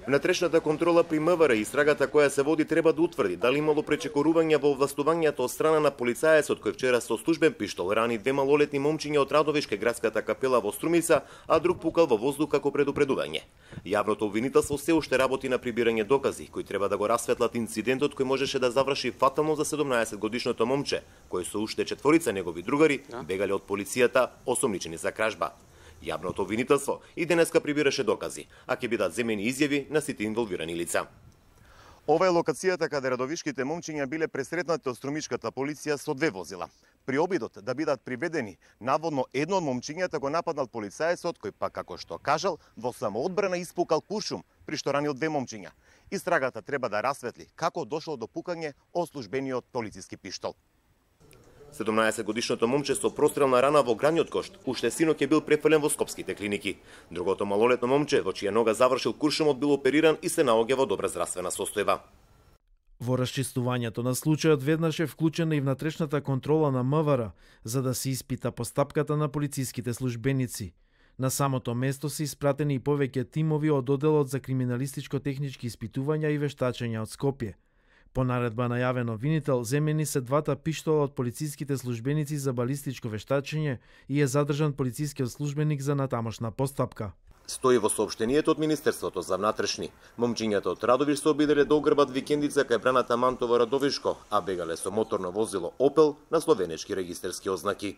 Внатрешната контрола при МВР и истрагата која се води треба да утврди дали имало пречекорување во овластувањето од страна на полицајецот кој вчера со службен пиштол рани две малолетни момчиња од Радовишке градската капела во Струмица, а друг пукал во воздух како предупредување. Јавното обвинителство се уште работи на прибирање докази кои треба да го расветлат инцидентот кој можеше да заврши фатално за 17-годишното момче, кој со уште четворица негови другари бегале од полицијата осомничени за кражба. Јавното обвинителство и денеска прибираше докази, а ќе бидат земени изјави на сите инволвирани лица. Ова е локацијата каде радовишките момчиња биле пресретнати од струмишката полиција со две возила. При обидот да бидат приведени, наводно едно од момчињата го нападнал полицајецот, кој пак како што кажал, во самоодбрана испукал куршум, при што ранил две момчиња. Истрагата треба да расветли како дошло до пукање од службениот полициски пиштол. 17-годишното момче со прострелна рана во градниот кошт уште синоќ е бил префрлен во скопските клиники. Другото малолетно момче, во чија нога завршил куршумот, бил опериран и се наоѓа во добра здравствена состојба. Во расчистувањето на случајот веднаш е вклучена и внатрешната контрола на МВР, за да се испита постапката на полициските службеници. На самото место се испратени и повеќе тимови од одделот за криминалистичко-технички испитувања и вештачења од Скопје. По наредба на јавен обвинител, земени се двата пиштола од полициските службеници за балистичко вештачење и е задржан полицискиот службеник за натамошна постапка. Стои во соопштението од Министерството за внатрешни. Момчињата од Радовиш се обиделе да ограбат викендица кај браната Мантово Радовишко, а бегале со моторно возило Опел на словенечки регистерски ознаки.